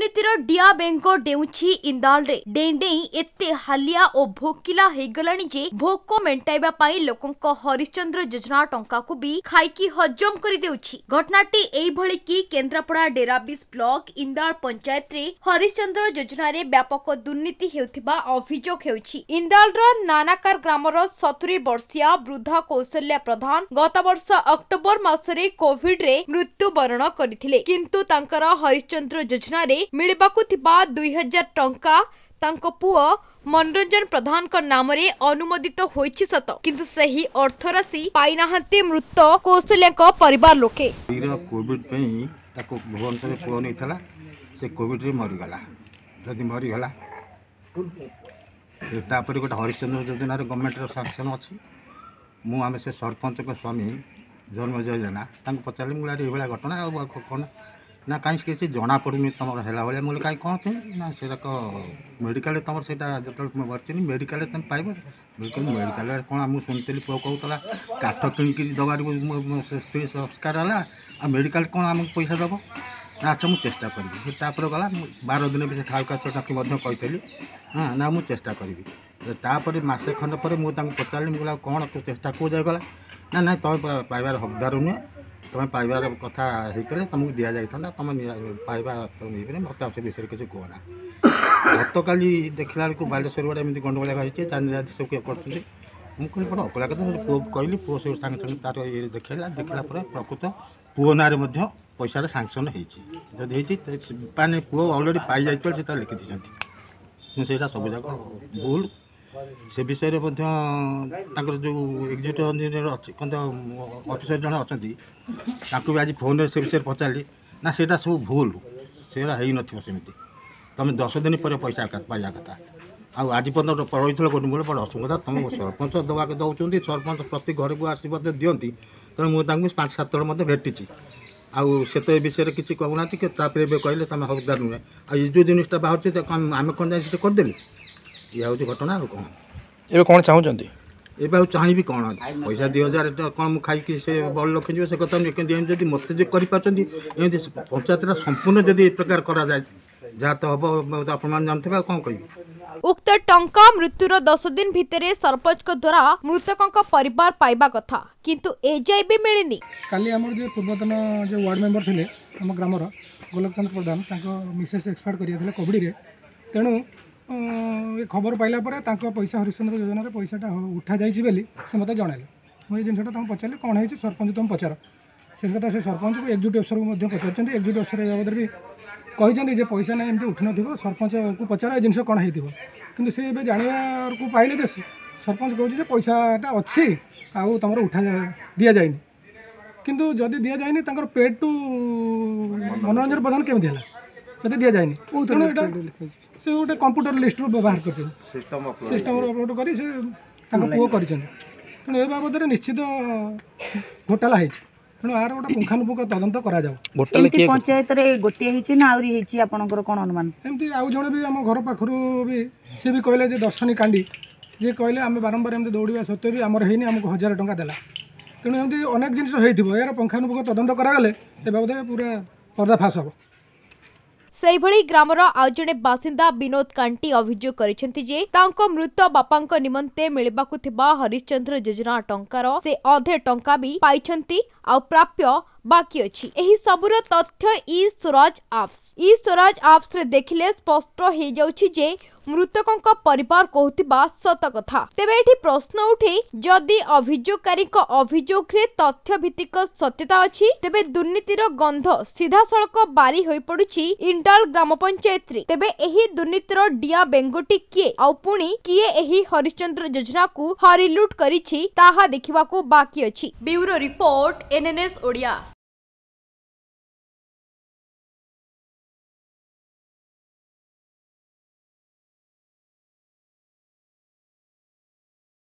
ଦୁର୍ନୀତିର ଡିଆ ବେଙ୍ଗ ଡେଉଁଛି ଇନ୍ଦାଳରେ। ଡେଇଁ ଡେଇଁ ଏତେ ହାଲିଆ ଓ ଭୋକିଲା ହେଇଗଲାଣି ଯେ ଭୋକ ମେଣ୍ଟାଇବା ପାଇଁ ଲୋକଙ୍କ ହରିଶ୍ଚନ୍ଦ୍ର ଯୋଜନା ଟଙ୍କାକୁ ବି ଖାଇକି ହଜମ କରିଦେଉଛି। ଘଟଣାଟି ଏଇଭଳି କି କେନ୍ଦ୍ରାପଡ଼ା ଡେରାବିଶ ବ୍ଲକ ଇନ୍ଦାଳ ପଞ୍ଚାୟତରେ ହରିଶ୍ଚନ୍ଦ୍ର ଯୋଜନାରେ ବ୍ୟାପକ ଦୁର୍ନୀତି ହେଉଥିବା ଅଭିଯୋଗ ହେଉଛି। ଇନ୍ଦାଳର ନାନାକାର ଗ୍ରାମର 70 ବର୍ଷୀୟା ବୃଦ୍ଧା କୌଶଲ୍ୟା ପ୍ରଧାନ ଗତବର୍ଷ ଅକ୍ଟୋବର ମାସରେ କୋଭିଡରେ ମୃତ୍ୟୁବରଣ କରିଥିଲେ। କିନ୍ତୁ ତାଙ୍କର ହରିଶ୍ଚନ୍ଦ୍ର ଯୋଜନାରେ ମିଳିବାକୁ ଥିବା 2000 ଟଙ୍କା ତାଙ୍କ ପୁଅ ମନୋରଞ୍ଜନ ପ୍ରଧାନଙ୍କ ନାମରେ ଅନୁମୋଦିତ ହୋଇଛି ସତ, କିନ୍ତୁ ସେହି ଅର୍ଥରାଶି ପାଇନାହାନ୍ତି ମୃତ କୌଶଲ୍ୟାଙ୍କ ପରିବାର ଲୋକେ। କୋଭିଡ ପାଇଁ ତାକୁ ଭୁବନେଶ୍ୱରରେ ପୁଅ ନେଇଥିଲା, ସେ କୋଭିଡରେ ମରିଗଲା। ଯଦି ମରିଗଲା, ତାପରେ ଗୋଟେ ହରିଶ୍ଚନ୍ଦ୍ର ଯୋଜନାରେ ଗଭର୍ଣ୍ଣମେଣ୍ଟର ସାଙ୍କସନ୍ ଅଛି। ମୁଁ ଆମେ ସେ ସରପଞ୍ଚଙ୍କ ସ୍ୱାମୀ ଜନ୍ମଜୟ ଜେନା ତାଙ୍କୁ ପଚାରିଲି, ମୁଁ କହିଲି ଏଇଭଳିଆ ଘଟଣା ଆଉ କ'ଣ ନା କାହିଁ କିଛି ଜଣାପଡ଼ୁନି ତୁମର ହେଲା ଭଳିଆ। ମୁଁ କହିଲି କାହିଁ କ'ଣ ପାଇଁ ନା, ସେଟାକ ମେଡ଼ିକାଲରେ ତୁମର ସେଇଟା ଯେତେବେଳେ ମରିଚିନି ମେଡ଼ିକାଲରେ ତୁମେ ପାଇବ। ମେଡ଼ିକାଲରେ କ'ଣ ମୁଁ ଶୁଣିଥିଲି ପୁଅ କହୁଥିଲା କାଠ କିଣିକିରି ଦେବାରୁ ସ୍ତ୍ରୀ ସଂସ୍କାର ହେଲା, ଆଉ ମେଡ଼ିକାଲ କ'ଣ ଆମକୁ ପଇସା ଦେବ ନା? ଆଚ୍ଛା ମୁଁ ଚେଷ୍ଟା କରିବି। ତାପରେ ଗଲା, ମୁଁ 12 ଦିନ ବି ସେ ଖାଉ କାଛ ତାକୁ ମଧ୍ୟ କହିଥିଲି, ହଁ ନା ମୁଁ ଚେଷ୍ଟା କରିବି। ତାପରେ ମାସେ ଖଣ୍ଡ ପରେ ମୁଁ ତାଙ୍କୁ ପଚାରିଲି, ମୁଁ କହିଲି ଆଉ କ'ଣ ଚେଷ୍ଟା କେଉଁ ଯାଏ ଗଲା? ନା ନାଇଁ ତୁମେ ପାଇବାର ହକଦାର ନୁହେଁ, ତୁମେ ପାଇବାର କଥା ହେଇଥିଲେ ତୁମକୁ ଦିଆଯାଇଥାନ୍ତା, ତୁମେ ପାଇବା ହେଇପାରିବ, ମୋତେ ଆଉ ସେ ବିଷୟରେ କିଛି କୁହନା। ଗତକାଲି ଦେଖିଲା ବେଳକୁ ବାଲେଶ୍ୱର ଗୋଟେ ଏମିତି ଗଣ୍ଡଗୋଳ ହେଇଛି, ଚାନ୍ଦିରାତି ସବୁ କିଏ କରୁଛନ୍ତି। ମୁଁ କହିଲି ବଡ଼ ଅକଳା କଥା। ପୁଅକୁ କହିଲି, ପୁଅ ସବୁ ସାଙ୍ଗେ ସାଙ୍ଗେ ତାର ଇଏ ଦେଖେଇଲା। ଦେଖିଲା ପରେ ପ୍ରକୃତ ପୁଅ ନାଁରେ ମଧ୍ୟ ପଇସାଟା ସାଙ୍କସନ୍ ହେଇଛି। ଯଦି ହେଇଛି ମାନେ ପୁଅ ଅଲରେଡ଼ି ପାଇଯାଇଥିବ, ସେ ତାର ଲେଖି ଦେଇଛନ୍ତି। କିନ୍ତୁ ସେଇଟା ସବୁଯାକ ଭୁଲ। ସେ ବିଷୟରେ ମଧ୍ୟ ତାଙ୍କର ଯେଉଁ ଏକ୍ଜିକ୍ୟୁଟିଭ୍ ଇଞ୍ଜିନିୟର ଅଛି, କ'ଣ ଅଫିସର ଜଣେ ଅଛନ୍ତି, ତାଙ୍କୁ ବି ଆଜି ଫୋନ୍ରେ ସେ ବିଷୟରେ ପଚାରିଲି। ନା ସେଇଟା ସବୁ ଭୁଲ, ସେଇଟା ହେଇନଥିବ ସେମିତି, ତୁମେ 10 ଦିନ ପରେ ପଇସା ପାଇବା କଥା, ଆଉ ଆଜି ପର୍ଯ୍ୟନ୍ତ ରହିଥିଲ ଗୋଟେ ବଡ଼ ଅସୁବିଧା। ତୁମ ସରପଞ୍ଚ ଦେବାକୁ ଦେଉଛନ୍ତି, ସରପଞ୍ଚ ପ୍ରତି ଘରକୁ ଆସି ମଧ୍ୟ ଦିଅନ୍ତି। ତେଣୁ ମୁଁ ତାଙ୍କୁ 5 7 ଥର ମଧ୍ୟ ଭେଟିଛି, ଆଉ ସେ ତ ଏ ବିଷୟରେ କିଛି କହୁନାହାନ୍ତି କି। ତାପରେ ଏବେ କହିଲେ ତୁମେ ହକଦାର ନୁହେଁ, ଆଉ ଏ ଯେଉଁ ଜିନିଷଟା ବାହାରୁଛି ଆମେ କ'ଣ ଯାଇ ସେଠି କରିଦେଲୁ? ଇଏ ହେଉଛି ଘଟଣା, ଆଉ କ'ଣ? ଏବେ କ'ଣ ଚାହୁଁଛନ୍ତି? ଏବେ ଆଉ ଚାହିଁବି କ'ଣ? ପଇସା 2000 କ'ଣ ମୁଁ ଖାଇକି ସେ ବଡ଼ ଲୋକ ହେଇଯିବ ସେ କଥା ନୁହେଁ। କିନ୍ତୁ ଏମିତି ଯଦି ମୋତେ ଯେ କରିପାରୁଛନ୍ତି, ଏମିତି ପଞ୍ଚାୟତଟା ସମ୍ପୂର୍ଣ୍ଣ ଯଦି ଏ ପ୍ରକାର କରାଯାଏ, ଯାହା ତ ହେବ ଆପଣମାନେ ଜାଣିଥିବେ, ଆଉ କ'ଣ କହିବି? ଉକ୍ତ ଟଙ୍କା ମୃତ୍ୟୁର 10 ଦିନ ଭିତରେ ସରପଞ୍ଚଙ୍କ ଦ୍ୱାରା ମୃତକଙ୍କ ପରିବାର ପାଇବା କଥା, କିନ୍ତୁ ଏଯାଏ ବି ମିଳିନି। କାଲି ଆମର ଯେ ପୂର୍ବତନ ଯେଉଁ ୱାର୍ଡ଼ ମେମ୍ବର ଥିଲେ ଆମ ଗ୍ରାମର ଗୋଲକ ଚନ୍ଦ୍ର ପ୍ରଧାନ, ତାଙ୍କ ମିସେସ୍ ଏକ୍ସପାୟାର୍ଡ କରିଯାଇଥିଲେ କୋଭିଡ଼ରେ। ତେଣୁ ଏ ଖବର ପାଇଲା ପରେ ତାଙ୍କ ପଇସା ହରିଶ୍ଚନ୍ଦ୍ର ଯୋଜନାରେ ପଇସାଟା ଉଠାଯାଇଛି ବୋଲି ସେ ମୋତେ ଜଣାଇଲେ। ମୁଁ ଏ ଜିନିଷଟା ତାଙ୍କୁ ପଚାରିଲି କ'ଣ ହେଇଛି, ସରପଞ୍ଚ ତୁମେ ପଚାର ସେ କଥା। ସେ ସରପଞ୍ଚକୁ ଏକ୍ଜିକ୍ୟୁଟିଭ୍ ଅଫିସରକୁ ମଧ୍ୟ ପଚାରିଛନ୍ତି। ଏକ୍ଜିକ୍ୟୁଟିଭ୍ ଅଫିସର ଏ ବାବଦରେ ବି କହିଛନ୍ତି ଯେ ପଇସା ନାହିଁ, ଏମିତି ଉଠିନଥିବ, ସରପଞ୍ଚକୁ ପଚାର ଏ ଜିନିଷ କ'ଣ ହେଇଥିବ। କିନ୍ତୁ ସେ ଏବେ ଜାଣିବାକୁ ପାଇଲେ ଯେ ସରପଞ୍ଚ କହୁଛି ଯେ ପଇସାଟା ଅଛି ଆଉ ତୁମର ଉଠା ଦିଆଯାଇନି। କିନ୍ତୁ ଯଦି ଦିଆଯାଇନି, ତାଙ୍କର ପେଡ୍ ଟୁ ମନୋରଞ୍ଜନ ପ୍ରଧାନ କେମିତି ହେଲା ଯଦି ଦିଆଯାଇନି? ତେଣୁ ଏଇଟା ସେ ଗୋଟେ କମ୍ପ୍ୟୁଟର ଲିଷ୍ଟରୁ ବ୍ୟବହାର କରିଛନ୍ତି, ସିଷ୍ଟମରୁ ଅପଲୋଡ଼ କରି ସେ ତାଙ୍କ ପୁଅ କରିଛନ୍ତି। ତେଣୁ ଏ ବାବଦରେ ନିଶ୍ଚିତ ଘୋଟାଲା ହେଇଛି। ତେଣୁ ଆର ଗୋଟେ ପୁଙ୍ଖାନୁପୁଙ୍ଖ ତଦନ୍ତ କରାଯାଉ। ଏମିତି ପଞ୍ଚାୟତରେ ଗୋଟିଏ ହେଇଛି ନା ଆହୁରି ହେଇଛି, ଆପଣଙ୍କର କ'ଣ ଅନୁମାନ? ଏମିତି ଆଉ ଜଣେ ବି ଆମ ଘର ପାଖରୁ ବି ସେ ବି କହିଲେ ଯେ ଦର୍ଶନୀ କାଣ୍ଡି ଯିଏ କହିଲେ ଆମେ ବାରମ୍ବାର ଏମିତି ଦୌଡ଼ିବା ସତ୍ତ୍ୱେ ବି ଆମର ହେଇନି, ଆମକୁ 1000 ଟଙ୍କା ଦେଲା। ତେଣୁ ଏମିତି ଅନେକ ଜିନିଷ ହେଇଥିବ, ଏହାର ପୁଙ୍ଖାନୁପୁଙ୍ଖ ତଦନ୍ତ କରାଗଲେ ଏ ବାବଦରେ ପୁରା ପର୍ଦ୍ଦାଫାଶ ହେବ। ସେହିଭଳି ଗ୍ରାମର ଆଉ ଜଣେ ବାସିନ୍ଦା ବିନୋଦ କାଣ୍ଟି ଅଭିଯୋଗ କରିଛନ୍ତି ଯେ ତାଙ୍କ ମୃତ ବାପାଙ୍କ ନିମନ୍ତେ ମିଳିବାକୁ ଥିବା ହରିଶ୍ଚନ୍ଦ୍ର ଯୋଜନା ଟଙ୍କାର ସେ ଅଧେ ଟଙ୍କା ବି ପାଇଛନ୍ତି, ଆଉ ପ୍ରାପ୍ୟ ବାକି ଅଛି। ଏହି ସବୁର ତଥ୍ୟ ଇ ସ୍ୱରାଜ ଆପ୍ସ ଇ ସ୍ୱରାଜ ଆପ୍ସରେ ଦେଖିଲେ ସ୍ପଷ୍ଟ ହେଇଯାଉଛି ଯେ ମୃତକଙ୍କ ପରିବାର କହୁଥିବା ସତ କଥା। ତେବେ ଏଠି ପ୍ରଶ୍ନ ଉଠେ, ଯଦି ଅଭିଯୋଗକାରୀଙ୍କ ଅଭିଯୋଗରେ ତଥ୍ୟ ଭିତ୍ତିକ ସତ୍ୟତା ଅଛି, ତେବେ ଦୁର୍ନୀତିର ଗନ୍ଧ ସିଧାସଳଖ ବାରି ହୋଇପଡୁଛି ଇଣ୍ଡାଲ ଗ୍ରାମ ପଞ୍ଚାୟତରେ। ତେବେ ଏହି ଦୁର୍ନୀତିର ଡିଆଁ ବେଙ୍ଗଟି କିଏ, ଆଉ ପୁଣି କିଏ ଏହି ହରିଶ୍ଚନ୍ଦ୍ର ଯୋଜନାକୁ ହରିଲୁଟ କରିଛି, ତାହା ଦେଖିବାକୁ ବାକି ଅଛି। Bureau report, NNS Odia.